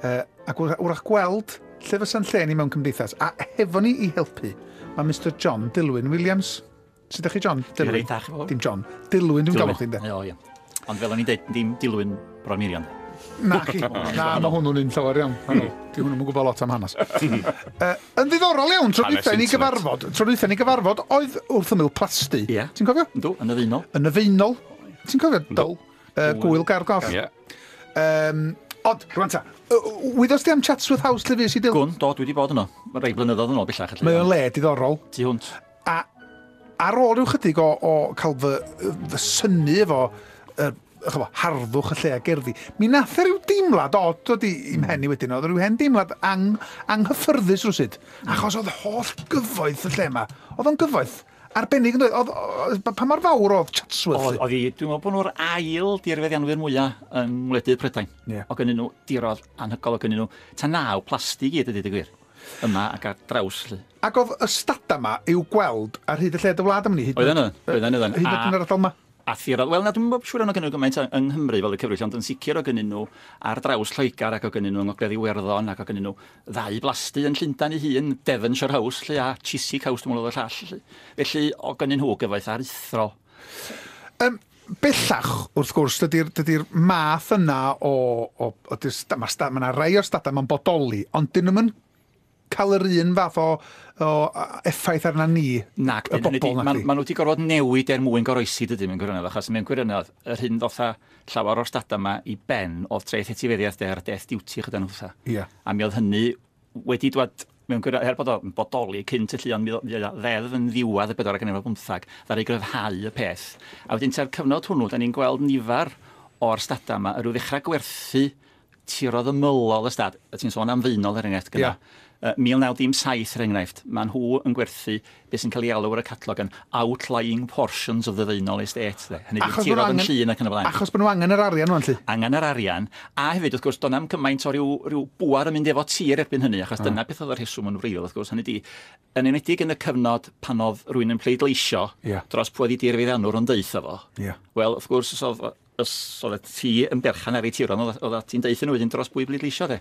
Ac wrach gweld lle fysa'n lle ni mewn cymdeithas. A hefo ni i helpu, mae Mr John Dilwyn Williams. Sut ydych chi, John? Dilwyn. Reit dda, chi Dim John. Dilwyn, dwi'n galw chdi, ynde? O, ie. Ond fel o'n i'n dweud, dim Dilwyn Bron Mirion. Na chi. Na, mae hwnnw'n un llawer iawn. Di hwnnw'n gwybod lot am hanes. Yn ddiddorol iawn, tro dwytha ni gyfarfod, tro dwytha ni gyfarfod, oedd wrth ymyl plasty. Ie. Ti'n cofio? Yndw, yn y Faenol. Yn y Faenol. Ti'n cofio, Dyl? Gwyl Gar Goll. Ie. Ond, rwan ta, wyddost ti am Chatsworth House lle fues i, Dyl? Gwn, do, dwi wedi bod yno. Mae rai blynyddoedd yn ôl bellach. Mae o'n le diddorol. Tu hwnt. A ar ôl rhyw chydig o cael fy synnu efo chyfo, harddwch y lle a gerddi, mi nath e ryw deimlad od dod i mhen i wedyn. Oedd rhyw hen deimlad anghyffyrddus rywsut. Achos oedd holl gyfoeth y lle yma. Oedd o'n gyfoeth arbennig yn dweud. Pa mor fawr oedd Chatsworth? Oedd hi, dwi'n meddwl bod nhw'r ail dirfeddianwyr mwyaf yng ngwledydd Prydain. Yeah. O gynnyn nhw dirodd anhygoel, o gynnyn nhw ta 9 plastig i gyd, ydy gwir. Yma ac ar draws. Lly. Ac oedd y stadau yma i'w gweld ar hyd y lled y wlad am ni? Oedden nhw, oedden nhw. Hyd yn yr ardal yma? A thirodd, wel na, dwi'n siŵr o'n gynnyn nhw gymaint yng Nghymru fel y cyfrif, ond yn sicr o gynnyn nhw ar draws Lloegr ac o gynnyn nhw yng Ngogledd Iwerddon ac o gynnyn nhw ddau blasty yn Llundain ei hun, Devonshire House lle, a Chiswick House, dwi'n meddwl oedd y llall. Lle. Felly o gynnyn nhw gyfoeth aruthrol. Bellach, wrth gwrs, dydy'r math yna o mae yna rai o'r stadau ma'n bodoli, ond dyn nhw'm yn cael yr un fath o effaith arna ni, Nac, y bobl na. Maen nhw wedi gorfod newid er mwyn goroesi, dydyn, mewn gwirionedd, achos mewn gwirionedd, yr hyn ddoth â llawer o'r stadau yma i ben oedd treth etifeddiaeth de, a'r death duty chyda nhw. Yeah. A mi oedd hynny wedi dwad, mewn gwirionedd, er bod o'n bodoli cynt y llu, ond mi oedd ddeddf yn ddiwedd y 1415, ddaru gryfhau y peth. A wedyn tua'r cyfnod hwnnw, da ni'n gweld nifer o'r stadau yma, yr ddechrau gwerthu tirodd ymylol y stad, a ti'n sôn am Faenol er enghraifft gyda. 1907 er enghraifft, maen nhw yn gwerthu beth sy'n cael ei alw ar y catalog yn outlying portions of the Faenol estate. De. Hynny yw tirodd yn llun ac yn y blaen. Achos bod nhw angen yr arian nhw'n lly. Angen yr arian, a hefyd wrth gwrs, do'n am cymaint o ryw bŵar yn mynd efo tir erbyn hynny, achos dyna beth oedd y rheswm yn wreiddiol, wrth gwrs, hynny di, yn enwedig yn y cyfnod pan oedd rhywun yn pleidleisio dros pwy oedd ei dirfeddiannwr yn deutha fo. Wel, wrth gwrs, os oedd ti yn berchan ar ei tiron, oedd ti'n deutha nhw wedyn dros bwy bleidleisio, de.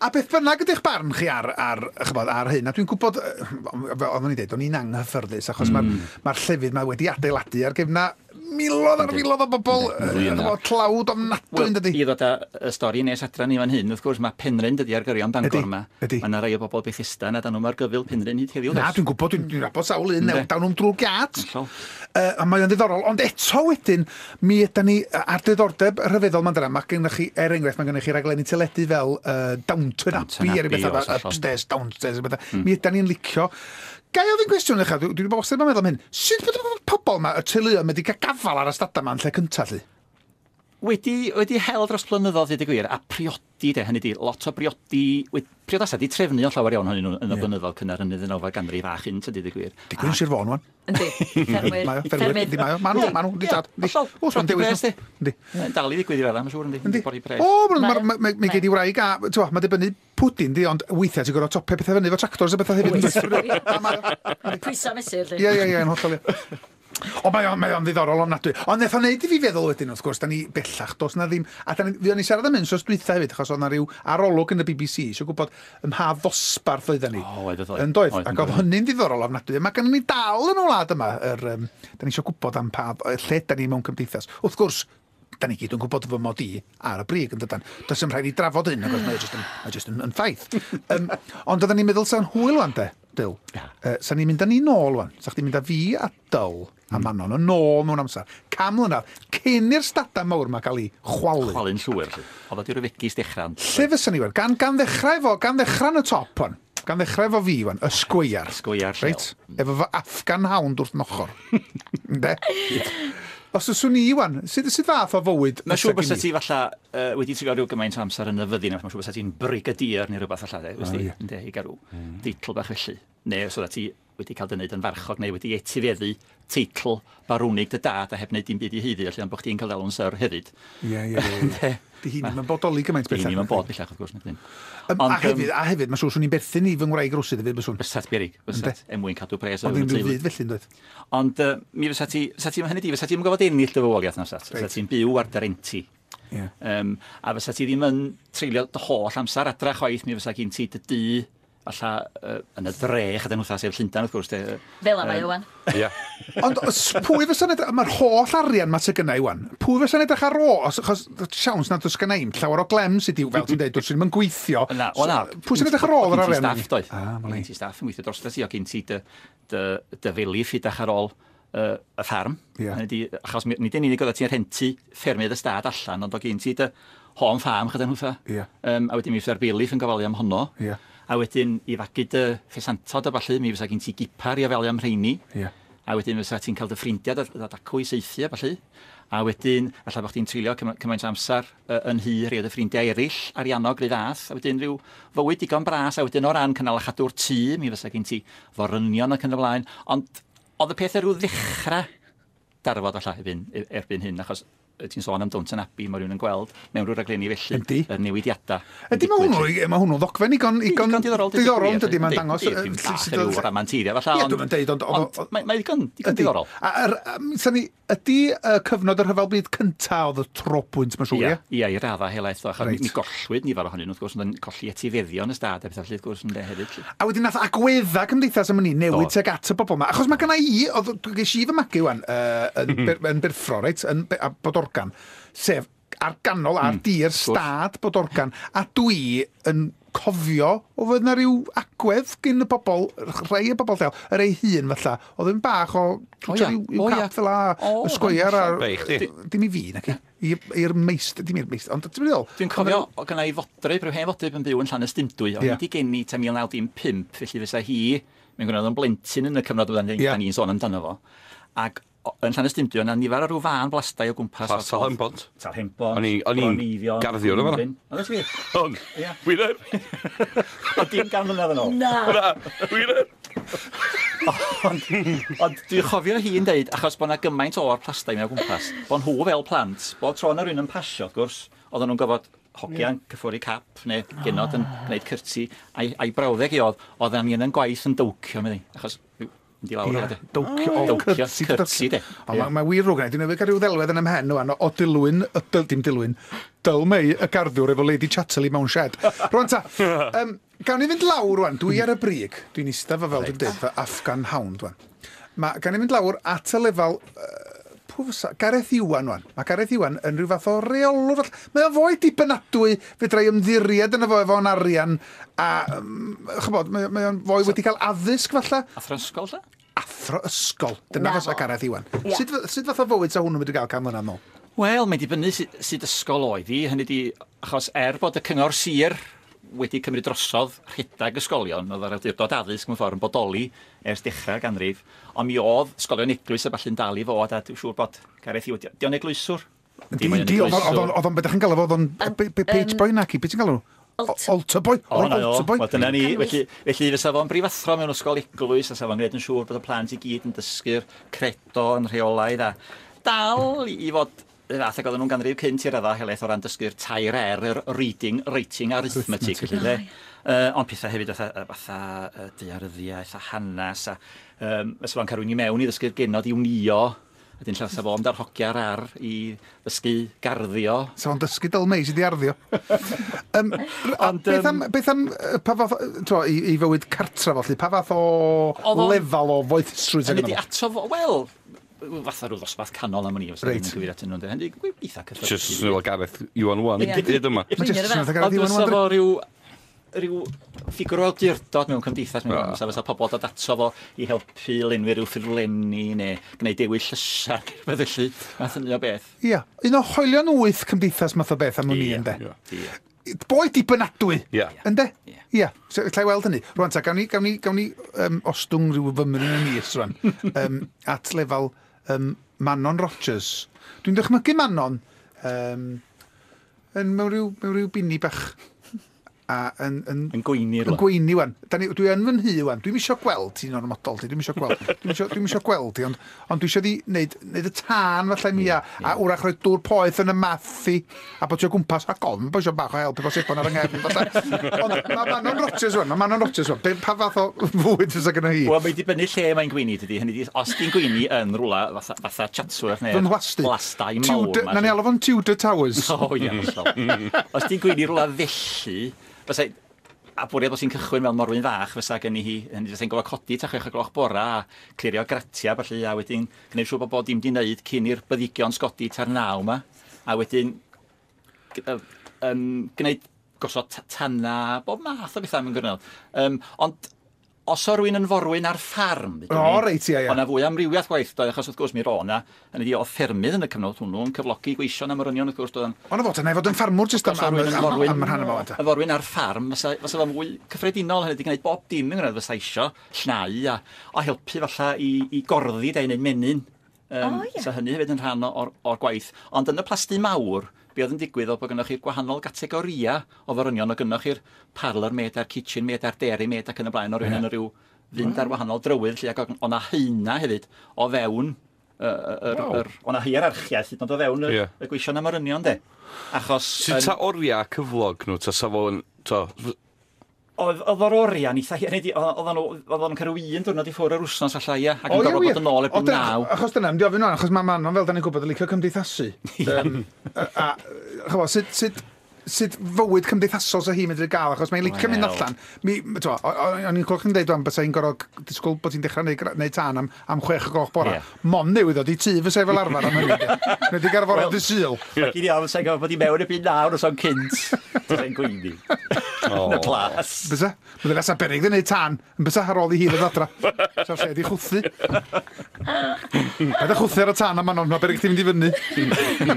A beth bynnag ydych barn chi ar hyn, a dwi'n gwybod, fel oeddwn i'n dweud, o'n i'n anghyffyrddus, achos mae'r llefydd ma wedi adeiladu ar gefna miloedd ar filoedd o bobl, tlawd ofnadwy, yn dydi? I ddod â y stori nes adra ni fan hyn, wrth gwrs, mae Penrhyn dydi ar gyrion Bangor yma. Ydy. Mae yna rai o bobl Bethesda na dan nhw mae'r gyfyl Penrhyn hyd heddiw. Na, dwi'n gwybod, dwi'n nabod sawl un, dawn nhw'n drwy'r giât. A mae o'n ddiddorol, ond eto wedyn, mi ydan ni ar diddordeb rhyfeddol ma'n dyna. Mae gennych chi, er enghraifft, mae gennych chi raglenni teledu fel Downton Abbey, er bethau, upstairs, downstairs, bethau. Mi ydan ni'n licio. Ga i ofyn cwestiwn i chi, dwi wedi bod wastad yn meddwl am hyn. Sut bod y pobl yma, y teuluoedd, wedi cael gafal ar y stadau yma yn lle cyntaf, lly? Wedi hel dros blynyddoedd, dweud y gwir, a priodi, de, hynny di, lot o briodi, priodasau di trefnu o llawer iawn hynny nhw yn y blynyddoedd cynnar yn y ddeunawfed ganrif a chynt, dweud y gwir. Digwydd yn Sir Fôn, wan. Yndi, ffermwyr. Ffermwyr, yndi, mae o. Maen nhw, yndi, tad. Hollol, Oes, prodi pres, di. Yndi. Dal i ddigwydd i raddau, mae'n siŵr, yndi. Pori pres. O, mae gen i wraig a, ti'n mae dibynnu pwdin, di, ond weithiau ti'n gorfod topio pethau fyny efo tractors a bethau hefyd. Pwysa mesur, lly. Ie, ie, ie, yn hollol, ie. O, mae o'n ddiddorol ofnadwy. Ond nath o wneud i fi feddwl wedyn, wrth gwrs, da ni bellach, does na ddim... A da ni, fuon ni siarad am hyn sos dwytha hefyd, achos oedd na ryw arolwg yn y BBC, eisiau gwybod ym mha ddosbarth oedden ni. O, oedd. Yn doedd, ac oedd hynny'n ddiddorol ofnadwy. Mae gennym ni dal yn y wlad yma, da ni eisiau gwybod am pa lle da ni mewn cymdeithas. Wrth gwrs, da ni gyd yn gwybod fy mod i ar y brig yn dydan. Does dim rhaid i drafod hyn, achos mae jyst yn ffaith. Ond oedden ni'n meddwl sa'n hwyl wan de, Dyl. Sa'n ni'n mynd â ni nôl wan. Sa chdi'n mynd â fi a Dyl a Manon yn ôl mewn amser. 100 mlynedd, cyn i'r stadau mawr yma gael ei chwalu. Chwalu'n llwyr, lly. Oedd o di ryfegis dechrau. Lle fysa ni wan? Gan ddechrau yn y top wan. Gan ddechrau efo fi wan, y sgweiar. Sgweiar lleol. Reit? Efo fy Afghan hound wrth nochor. Ynde? Os yswn i wan, sut fath o fywyd? Mae'n siŵr bysa ti falla wedi treulio rhyw gymaint o amser yn y fyddin, mae'n siŵr bysa ti'n brigadier neu rhywbeth falla, de, ynde, i gael rhyw deitl bach felly. Neu os oeddet ti wedi cael dy wneud yn farchog neu wedi etifeddu teitl barwnig dy dad a heb wneud dim byd i haeddu, felly ond bod chdi'n cael alw'n syr hefyd. Ie. Di hyn yn bodoli gymaint Di bellach. hyn yn bod bellach, wrth gwrs. A hefyd, mae'n siŵr swn i'n berthyn i fy ngwraig rwsyd hefyd, byswn. Bysat berig, bysat, er mwyn cadw pres. Ond ddim rhyw fyd felly, yn dweud. Ond mi fysa ti, hynny di, fysa ti'n gofod ennill dy fywoliaeth na, fysa. Fysa ti'n byw ar dy renti. Yeah. A fysa ti ddim yn treulio dy holl amser adra chwaith, mi fysa gen ti dy dŷ falla yn y dre, chyda nhwtha, sef Llundain, wrth gwrs. Fel yma, Iwan. Ie. Ond pwy fysa'n edrych, mae'r holl arian ma sydd gynna i wan, pwy fysa'n edrych ar ôl, achos siawns nad oes gynna i'm llawer o glem sydd i'w, fel ti'n dweud, dwi'n ddim yn gweithio. Na, o na. Pwy sy'n edrych ar ôl yr arian? Gen ti staff, doedd. Ah, Gen ti staff yn gweithio dros ti, o gen ti dy feliff i dach ar ôl y ffarm. Yeah. Achos nid yn unig oedd ti'n rhentu ffermydd y stad allan, ond o gen ti dy home farm chyda nhwtha. Yeah. A wedyn mi fysa'r bailiff yn gofalu am honno. Yeah. A wedyn i fagu dy ffesantod a ballu, mi fysa gen ti gipar i ofalu am rheini. Yeah. A wedyn fysa ti'n cael dy ffrindiau dod acw i saethu a ballu. A wedyn, falle bod chdi'n treulio cymaint o amser yn hy rhai o dy ffrindiau eraill, ariannog rhyw fath. A wedyn rhyw fywyd digon bras, a wedyn o ran cynnal a chadw'r tŷ, mi fysa gen ti forynion ac yn y blaen. Ond oedd y peth ar ryw ddechrau darfod falle erbyn hyn, achos ti'n sôn am Downton Abbey, mae rhywun yn gweld mewn rhyw raglenni felly, Yndi. y newidiadau. Ydy, mae hwnnw'n ddogfen igon diddorol, diddorol, dydy, mae'n dangos... Dim bach ryw ramanteiddio falle, Ie, dwi'n deud, ond mae digon diddorol. Ydy cyfnod y Rhyfel Byd cynta oedd y trobwynt, mae'n siŵr, ie? Ie, i raddau helaeth, achos mi gollwyd nifer ohonyn nhw, wrth gwrs, ond yn colli etifeddion y stad a pethau felly, wrth gwrs, ynde, hefyd. A wedyn nath agwedda cymdeithas am hynny newid tuag at y bobl yma. Achos mae gynna i, ges i fy magu wan, yn Birffro, reit, yn Bodorgan, sef ar ganol, ar dir stad Bodorgan, a dwi yn cofio o fod yna rhyw agwedd gyn y bobl, rhai y bobl lleol, yr ei hun falle, oedd yn bach o rhyw cap fel a, y sgweiar a... Dim i fi, nac i'r meistr, dim i'r meistr, ond ti'n meddwl? Dwi'n cofio, o gynna i fodryb, rhyw hen fodryb yn byw yn Llanystumdwy, oedd wedi geni ta 1915, felly fysa hi, mae'n gwneud yn blentyn yn y cyfnod oedden ni'n sôn amdano fo, ac yn Llanystumdwy, yna nifer o rhyw fân blastai o gwmpas. Talhenbont. Talhenbont. O'n i'n garddiwr yma. Oedd ti? O'n. Wir. O dim 100 mlynedd yn ôl. Na. Na, wir. Ond dwi'n chofio hi'n deud, achos bod yna gymaint o'r plastai mewn o gwmpas, bod nhw fel plant, bob tro yna rhywun yn pasio, wrth gwrs, oedden nhw'n gofod hogian cyffwrdd cap neu genod yn gwneud cyrti, a'i brawddeg i oedd, oedd angen yn gwaith yn dowcio, meddi, achos mynd i lawr o de. Dowcio, cyrti, de. Mae wir rwg yna, dwi'n newydd gael rhyw ddelwedd yn ymhen nhw, o Dilwyn, dim Dilwyn, Dyl May, y garddiwr efo Lady Chatterley mewn shed. Rwan ta, gawn ni fynd lawr rwan, dwi ar y brig, dwi'n eistedd fel dwi'n dweud, fy Afghan Hound rwan. Gawn ni fynd lawr at y lefel, Gareth Iwan rwan. Mae Gareth Iwan yn rhyw fath o reolwr. Mae o'n fwy dibynadwy, fedra i ymddiried yno fo efo'n arian, a ch'bod, mae o'n fwy wedi cael addysg falle. Athro ysgol, lle? Athro ysgol. Dyna fysa Gareth Iwan. Sut fath o fywyd sa hwnnw'n mynd i gael 100 mlynedd nôl? Wel, mae'n dibynnu sut ysgol oedd hi. Hynny di, achos bod y cyngor sir wedi cymryd drosodd rhedeg ysgolion, oedd yr awdurdod addysg mewn ffordd yn bodoli ers dechrau'r ganrif, ond mi oedd ysgolion eglwys a ballu'n dal i fod, a dwi'n siŵr bod Gareth Iwan, di o'n eglwyswr? Di, oedd o'n, beth ydych chi'n galw fo, oedd o'n page boy naci, beth ti'n galw? Altar boy, altar boy. Wel, dyna ni, felly fysa fo'n brifathro mewn ysgol eglwys, a sa fo'n gwneud yn siŵr bod y plant i gyd yn dysgu'r credo yn rheolaidd, a dal i fod fath ag oedden nhw'n ganrif cynt i'r raddau helaeth o ran dysgu'r tair R, yr reading, writing, arithmetic, felly, de. Ond pethau hefyd fatha daearyddiaeth a hanes, a fysa fo'n cael rhywun i mewn i ddysgu'r genod i wnio, a dyn lla fysa fo'n darhogia'r ar i ddysgu garddio. Sa fo'n dysgu Dyl May sydd i arddio. Beth am, pa fath, i fywyd cartra felly, pa fath o lefel o foethusrwydd? Hynny di ato fo, wel, fatha rhyw ddosbarth canol am wn i, os ydyn nhw'n cyfeirio atyn nhw'n dweud. Eitha cyffredin. Just swnio fel Gareth Iwan Wan, hyd yma. Mae just swnio fel Gareth Iwan Wan. Ond fysa fo rhyw ffigwr o awdurdod mewn cymdeithas, mewn fysa pobl dod ato fo i helpu lenwi rhyw ffurflenni neu gwneud dewis llysiau, rhywbeth felly, math hynny o beth. Ia, un o hoelion wyth cymdeithas math o beth am wn i, ynde. Boi dibynadwy, ynde? Ia, lla i weld hynny. Rwan ta, gawn ni ostwng rhyw fymryn yn is rwan, at lefel Manon Rogers. Dwi'n dychmygu Manon yn mewn rhyw bini bach a yn, yn, Yn gweini yn rwla. gweini wan. Dwi yn fy nhŷ wan. Dwi'm isio gweld ti'n ormodol ti. Dwi'm isio gweld. Dwi'm isio gweld ti, ond dwi isio di neud y tân falle mi a wrach rhoi dŵr poeth yn y math i a bod ti o gwmpas a gofn bod isio bach o help efo sebon ar yng nghefn falle. Ond mae Manon Rodgers wan, mae Manon Rodgers wan. Pa fath o fwyd fysa gynno hi? Wel, mae'n dibynnu lle mae'n gweini, dydy. Hynny 'di, os di'n gweini yn rwla fatha Chatsworth Fy neu'r nhwasty. blastai mawr Tudor, 'ma, na ni lly. alw fo'n Tudor Towers. O, ie, hollol. Os di'n gweini rwla felly, fysa, a bwriad bod ti'n cychwyn fel morwyn fach, fysa gen i hi, hynny fysa'n gofio codi ta 6 o gloch bora a clirio gratia, felly, a wedyn gwneud siŵr bod bod dim di wneud cyn i'r byddigion sgodi ta'r 9 ma, a wedyn gwneud gosod tanna, bob math o bethau mewn gwirionedd. Ond os o rywun yn forwyn ar ffarm, ddeudwn O, ni, reit, ie, ie. O' 'na fwy o amrywiaeth gwaith, doedd, achos wrth gwrs mi ro' 'na, hynny ydi, oedd ffermydd yn y cyfnod hwnnw yn cyflogi gweision am yr union, wrth gwrs, doedd yn Ond o fod yna i fod yn ffarmwr jyst am, Os o am, rywun yn am, forwyn, am, am rhan yma wan. y forwyn ar ffarm, fysa fo'n fwy cyffredinol, hynny ydi gwneud bob dim yn gwneud fysa isio llnau a helpu falla i gorddi de, i wneud menyn. O, ie. So hynny hefyd yn rhan o'r gwaith. Ond yn y plasty mawr, be oedd yn digwydd oedd bod gynnoch chi'r gwahanol gategoria o forynion, oedd gynnoch chi'r parlour maid a'r kitchen maid a'r dairy maid ac yn y blaen, o rywun yn ryw fynd ar wahanol drywydd, lle, ac oedd 'na haena hefyd o fewn o 'na hierarchiaeth hyd yn oed o fewn y gweision a morynion, de. Achos Sut ta oriau cyflog nhw, ta sa fo'n... To, oedd o'r oriau'n eitha hir, hynny ydi, oedden nhw'n cael rhyw un diwrnod i ffwrdd yr wsnos falle, ia, ac yn O, ie, gorfod wir. bod yn ôl O, erbyn 9. Achos dyna, mynd i ofyn wan, achos mae Manon, fel da ni'n gwybod, yn licio cymdeithasu. A, ch'mo, sut fywyd cymdeithasol sa hi'n medru gael, achos mae'n licio mynd Wel. allan. Mi, t'mo, o'n i'n clywed chi'n deud wan, bysa hi'n gorfod disgwyl bod hi'n dechrau neud tân am 6 o gloch bora. Ie. Mon newydd ddod i tŷ fysa hi fel arfer am hynny. de. Neu di gael fore Wel. dy Sul. Ac i ni ofn sa'n gorfod bod i mewn erbyn 9 os o'n cynt. Fysa'n gweini. Yn y plas. Bysa? Bydde nesa berig yn neud tân, yn bysa ar ôl i hi ddod adra. Sa'r lle di chwthu. Paid â chwthu ar y tân am Manon, mae berig chdi mynd i fyny.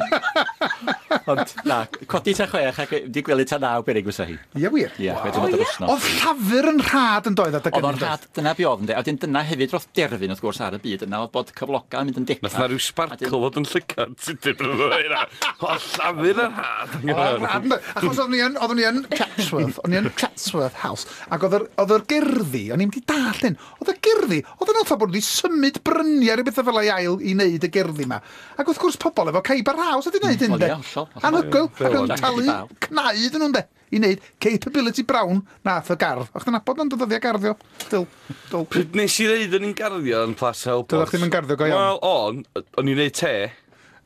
Ond na, codi ta 6 ac di gwely ta 9 berig fysa hi. Ie, wir. Ie, chwe diwrnod yr wsnos. Oedd llafur yn rhad yn doedd adeg Oedd o'n hynny, doedd? rhad, dyna be oedd, ynde. A wedyn dyna hefyd roth derfyn, wrth gwrs, ar y byd yna, oedd bod cyflogau yn mynd yn decach. Nath na rhyw sparkle fod yn llygad sydyn bryd o'n hynna. O, llafur yn rhad. Oedd rhad yn doedd? Achos oeddwn i yn Chatsworth, o'n i yn Chatsworth House, ac oedd yr gerddi, o'n i'n mynd i dallt hyn, oedd y gerddi, oedd yn fatha bod nhw wedi symud bryniau rhyw bethau fel ei ail i wneud y gerddi ma. Ac wrth gwrs pobl efo caib ar house wedi wneud hyn, Wel, de. ie, hollol, hollol. Anhygoel, ac yn Jack talu i bawb. cnau iddyn nhw'n de, i wneud Capability Brown nath y gardd. O'ch chdi'n nabod o'n dyddiau garddio? Dyl, dyl. Pryd nes i ddeud o'n i'n garddio yn Plas Helbos? Doeddach chdi'm yn garddio go iawn? Wel, o'n i'n neud te,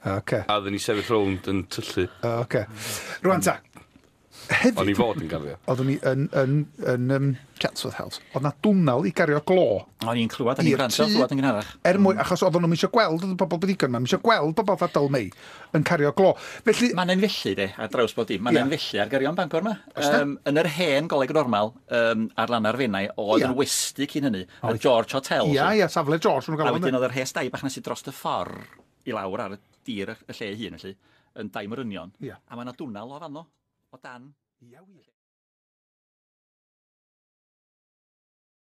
Oce, a oedden ni sefyll rownd yn tyllu. oce. Rwan ta, O'n i hefyd, fod yn garddio. oeddwn i yn Chatsworth House, oedd na dwnnel i gario glo. O'n i'n clywed, o'n i'n I'r gwrando, tŷ. clywed yn gynharach. Er mwyn, achos oedden nhw'n eisiau gweld, oedd y bobl byddigon yma, eisiau gweld bobl fatha Dyl Mei yn cario glo. Felly, Mae'n un felly, de, ar draws bod dim. Mae'n Ie. un felly ar gyrion Bangor yma. Oes 'na? Yn yr hen goleg normal, ar lan ar Fenai, oedd Ie. yn westy cyn hynny, y George Hotel. ia, ia, safle George, nhw'n A gael wedyn oedd yr rhes dai bach nes i dros y ffordd i lawr ar y dir y lle ei hun, felly, yn dai morynion. Ie. A mae yna dwnnel o fanno, o dan. Ia, wir.